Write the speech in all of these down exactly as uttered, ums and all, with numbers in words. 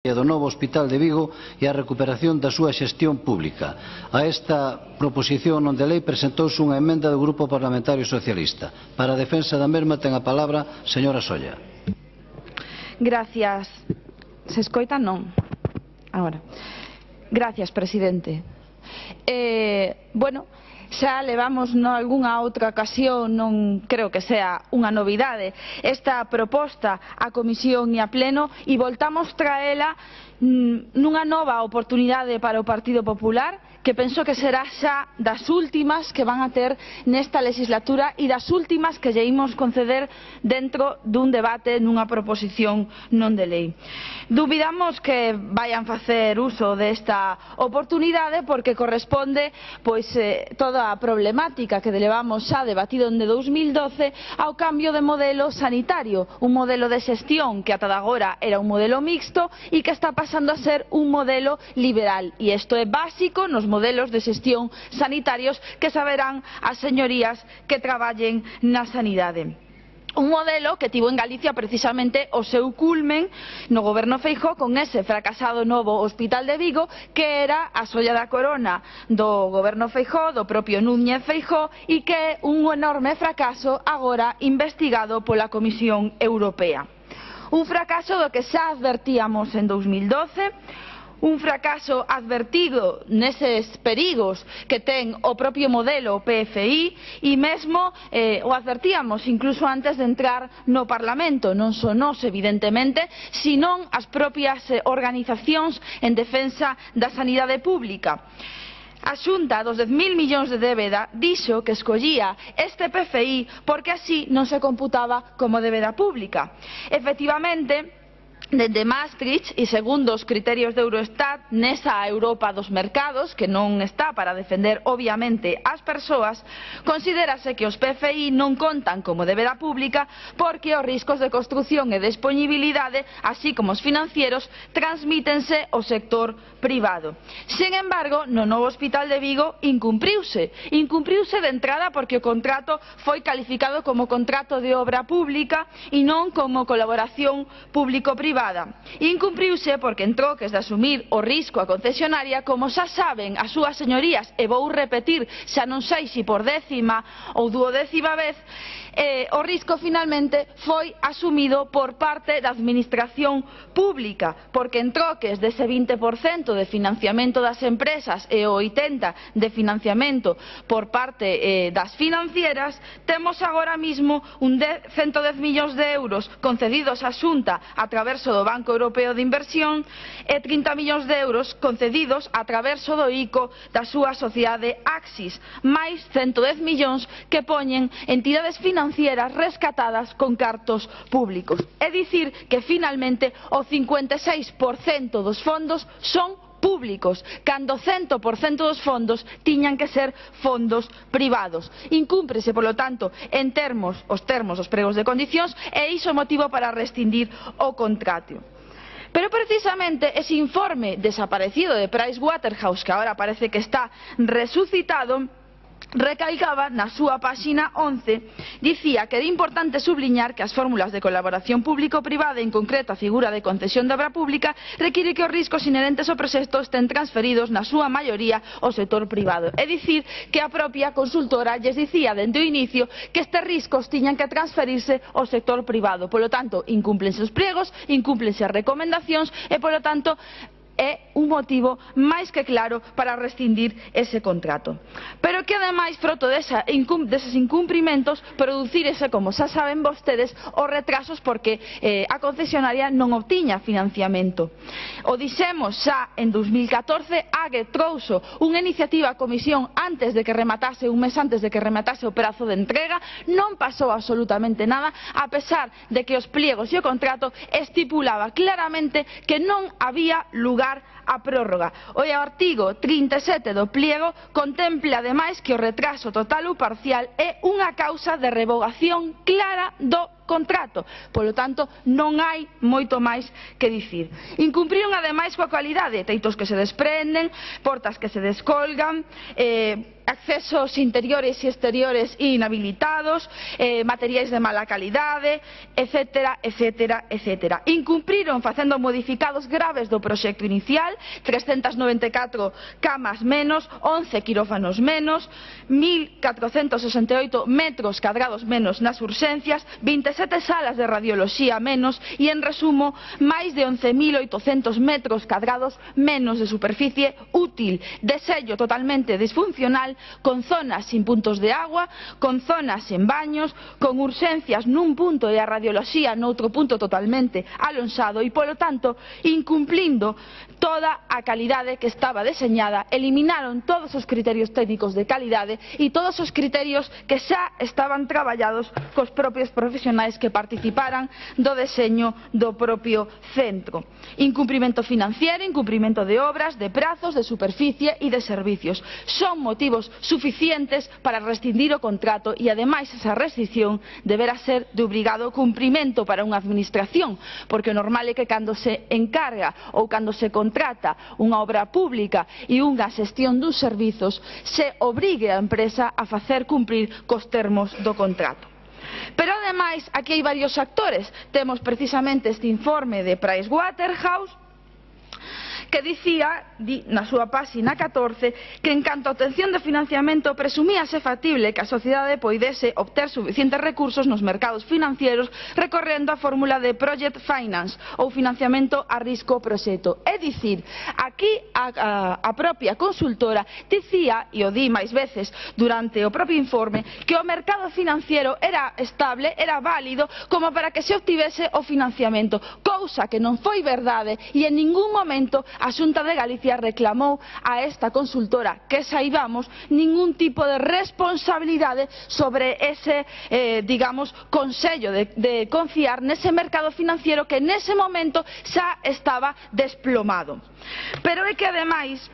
do novo Hospital de Vigo e a recuperación da súa xestión pública. A esta proposición non de lei presentouse unha emenda do Grupo Parlamentario Socialista. Para a defensa da mesma ten a palabra a señora Solla. Gracias. Se escoita? Non. Agora. Gracias, presidente. Eh, bueno, xa levamos nalgunha outra ocasión, non creo que sea unha novidade, esta proposta á Comisión e a Pleno e voltamos traela nunha nova oportunidade para o Partido Popular, que penso que será xa das últimas que van a ter nesta legislatura e das últimas que lle imos conceder dentro dun debate nunha proposición non de lei. Dubidamos que vayan facer uso desta oportunidade porque corresponde pois eh, toda a problemática que levamos xa debatido en dous mil doce ao cambio de modelo sanitario, un modelo de xestión que ata agora era un modelo mixto e que está pasando a ser un modelo liberal, e isto é básico nos modelos de xestión sanitarios que saberán as señorías que traballen na sanidade. Un modelo que tivo en Galicia precisamente o seu culmen no goberno Feijóo con ese fracasado novo Hospital de Vigo que era a xoia da corona do goberno Feijóo, do propio Núñez Feijóo, e que é un enorme fracaso agora investigado pola Comisión Europea. Un fracaso do que xa advertíamos en dous mil doce, un fracaso advertido neses perigos que ten o propio modelo P F I e mesmo eh, o advertíamos incluso antes de entrar no Parlamento, non só nós evidentemente, senón as propias eh, organizacións en defensa da sanidade pública. A Xunta dos dez mil millóns de débeda dixo que escollía este P F I porque así non se computaba como débeda pública. Efectivamente, dende Maastricht e segundo os criterios de Eurostat nesa Europa dos mercados, que non está para defender obviamente as persoas, considérase que os P F I non contan como débeda pública porque os riscos de construción e disponibilidade, así como os financieros, transmítense ao sector privado. Sen embargo, no novo Hospital de Vigo incumpriuse. Incumpriuse de entrada porque o contrato foi calificado como contrato de obra pública e non como colaboración público-privada. Incumpriuse porque en troques de asumir o risco a concesionaria, como xa saben as súas señorías, e vou repetir xa non sei se por décima ou duodécima vez, eh, o risco finalmente foi asumido por parte da administración pública, porque en troques dese vinte por cento de financiamento das empresas e o oitenta por cento de financiamento por parte eh, das financieras, temos agora mismo un cento dez millóns de euros concedidos á Xunta a través do Banco Europeo de Inversión e trinta millóns de euros concedidos a través do I C O da súa sociedade Axis, máis cento dez millóns que poñen entidades financieras rescatadas con cartos públicos. É dicir que finalmente o cincuenta e seis por cento dos fondos son públicos, cando o cento por cento dos fondos tiñan que ser fondos privados. Incúmprese, polo tanto, en termos, os termos dos pregos de condicións e iso é motivo para rescindir o contrato. Pero precisamente ese informe desaparecido de Pricewaterhouse, que agora parece que está resucitado, recalcaba na súa páxina once, dicía que era importante subliñar que as fórmulas de colaboración público-privada, en concreto a figura de concesión de obra pública, require que os riscos inherentes ao proxecto estén transferidos na súa maioría ao sector privado. É dicir, que a propia consultora lles dicía dende o inicio que estes riscos tiñan que transferirse ao sector privado. Polo tanto, incúmplense os pliegos, incúmplense as recomendacións e, polo tanto, é un motivo máis que claro para rescindir ese contrato. Pero que ademais, froto desa, deses incumprimentos, producírese, como xa saben vostedes, os retrasos porque eh, a concesionaria non obtiña financiamento. O dixemos xa en dous mil catorce, Ague trouxo unha iniciativa a comisión antes de que rematase, un mes antes de que rematase o prazo de entrega, non pasou absolutamente nada, a pesar de que os pliegos e o contrato estipulaba claramente que non había lugar a prórroga. O artigo trinta e sete do pliego contempla ademais que o retraso total ou parcial é unha causa de revogación clara do contrato. Polo tanto, non hai moito máis que dicir. Incumpriron ademais coa cualidade, teitos que se desprenden, portas que se descolgan, eh, accesos interiores e exteriores inhabilitados, eh, materiais de mala calidade, etcétera, etcétera, etcétera. Incumpriron facendo modificados graves do proxecto inicial, trescentas noventa e catro camas menos, once quirófanos menos, mil catrocentos sesenta e oito metros cadrados menos nas urxencias, vinte e sete salas de radioloxía menos e, en resumo, máis de once mil oitocentos metros cadrados menos de superficie útil, desello totalmente disfuncional, con zonas sin puntos de agua, con zonas sen baños, con urxencias nun punto e a radioloxía noutro punto totalmente alonsado e, polo tanto, incumplindo toda a calidade que estaba deseñada. Eliminaron todos os criterios técnicos de calidade e todos os criterios que xa estaban traballados cos propios profesionais que participaran do deseño do propio centro. Incumprimento financiero, incumprimento de obras, de prazos, de superficie e de servicios. Son motivos suficientes para rescindir o contrato e, ademais, esa rescisión deberá ser de obrigado cumprimento para unha administración, porque o normal é que cando se encarga ou cando se contrata unha obra pública e unha xestión dos servizos se obrigue a empresa a facer cumprir cos termos do contrato. Pero, ademais, aquí hai varios actores. Temos precisamente este informe de Pricewaterhouse que dicía, di, na súa páxina catorce, que en canto a obtención de financiamento presumíase factible que a sociedade poidese obter suficientes recursos nos mercados financieros recorrendo a fórmula de Project Finance ou financiamento a risco proxecto. É dicir, aquí a, a, a propia consultora dicía, e o di máis veces durante o propio informe, que o mercado financiero era estable, era válido como para que se obtivese o financiamento, cousa que non foi verdade e en ningún momento a Xunta de Galicia reclamou a esta consultora que saibamos ningún tipo de responsabilidade sobre ese, eh, digamos, consello de, de confiar nese mercado financiero que nese momento xa estaba desplomado. Pero é que, ademais,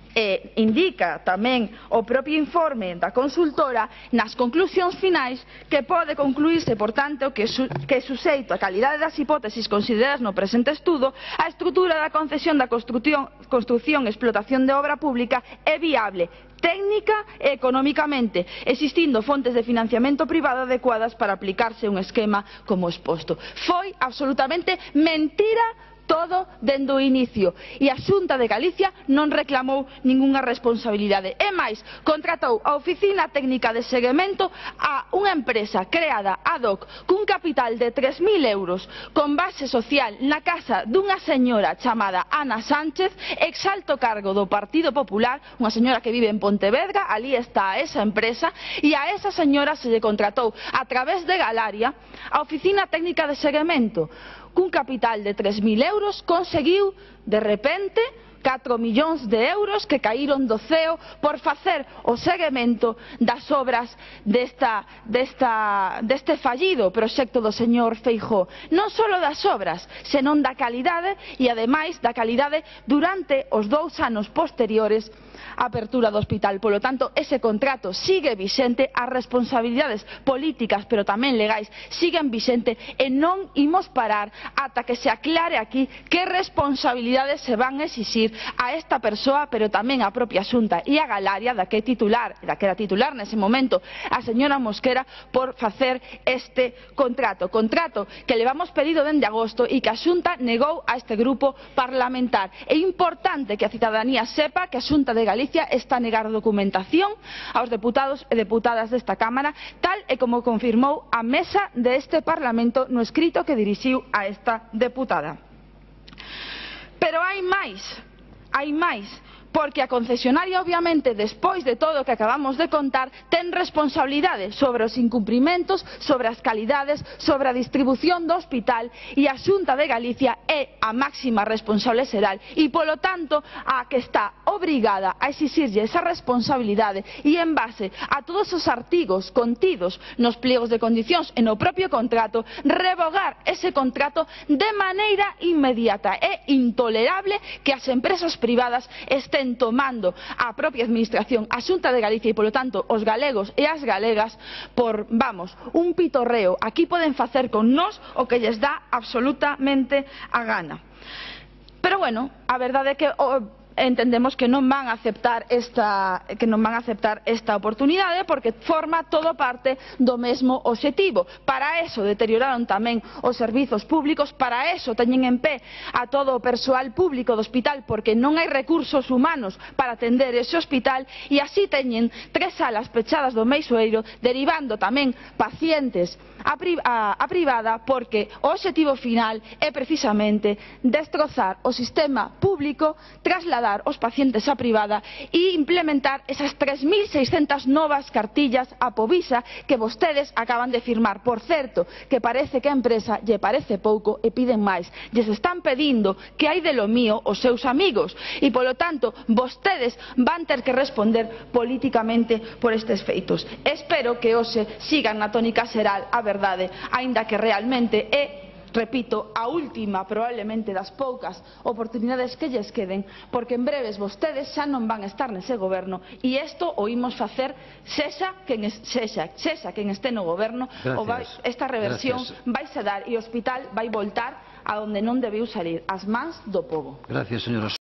Eh, indica tamén o propio informe da consultora nas conclusións finais que pode concluírse, por tanto, que, su, que suxeito a calidade das hipótesis consideradas no presente estudo, a estrutura da concesión da construcción, construcción e explotación de obra pública é viable técnica e económicamente, existindo fontes de financiamento privado adecuadas para aplicarse un esquema como exposto. Foi absolutamente mentira todo dende o inicio e a Xunta de Galicia non reclamou ningunha responsabilidade. É máis, contratou a Oficina Técnica de Seguimento a unha empresa creada ad hoc cun capital de tres mil euros con base social na casa dunha señora chamada Ana Sánchez, exalto cargo do Partido Popular, unha señora que vive en Pontevedra. Ali está esa empresa e a esa señora se lle contratou a través de Galaria a Oficina Técnica de Seguimento. Cun capital de tres mil euros conseguiu, de repente, catro millóns de euros que caíron do ceo por facer o seguimento das obras desta, desta, deste fallido proxecto do señor Feijóo. Non só das obras, senón da calidade e, ademais, da calidade durante os dous anos posteriores á apertura do hospital. Polo tanto, ese contrato sigue vixente, as responsabilidades políticas, pero tamén legais, siguen vixente e non imos parar ata que se aclare aquí que responsabilidades se van a exixir a esta persoa, pero tamén a propia Xunta e a Galaria, da que é titular, da que era titular nese momento a señora Mosquera, por facer este contrato. Contrato que levamos pedido dende agosto e que a Xunta negou a este grupo parlamentar. É importante que a cidadanía sepa que a Xunta de Galicia está a negar documentación aos deputados e deputadas desta Cámara, tal e como confirmou a mesa deste Parlamento no escrito que dirixiu a esta deputada. Pero hai máis, hai máis, porque a concesionaria, obviamente, despois de todo o que acabamos de contar, ten responsabilidade sobre os incumprimentos, sobre as calidades, sobre a distribución do hospital, e a Xunta de Galicia é a máxima responsable xeral e, polo tanto, a que está obrigada a exixirlle esa responsabilidade e, en base a todos os artigos contidos nos pliegos de condicións e no propio contrato, revogar ese contrato de maneira inmediata. É intolerable que as empresas privadas estén ten tomando a propia administración, a Xunta de Galicia e, polo tanto, os galegos e as galegas por, vamos, un pitorreo. Aquí poden facer con nós o que lles dá absolutamente a gana. Pero, bueno, a verdade é que o, entendemos que non van a aceptar esta que non van a aceptar esta oportunidade porque forma todo parte do mesmo obxectivo. Para eso deterioraron tamén os servizos públicos, para eso teñen en pé a todo o persoal público do hospital porque non hai recursos humanos para atender ese hospital e así teñen tres salas pechadas do Meixoeiro, derivando tamén pacientes a, pri a, a privada porque o obxectivo final é precisamente destrozar o sistema público, trasladar os pacientes á privada e implementar esas tres mil seiscentas novas cartillas a Povisa que vostedes acaban de firmar. Por certo, que parece que a empresa lle parece pouco e piden máis. Lles están pedindo que hai de lo mío os seus amigos e, polo tanto, vostedes van ter que responder políticamente por estes feitos. Espero que hoxe sigan na tónica xeral a verdade, aínda que realmente é, repito, a última probablemente das poucas oportunidades que lles queden, porque en breves vostedes xa non van a estar nese goberno e isto o imos facer sexa quen, sexa, sexa quen este no goberno. O vai, esta reversión vai se dar e o hospital vai voltar a onde non debiu salir, as mans do pobo. Gracias, señora.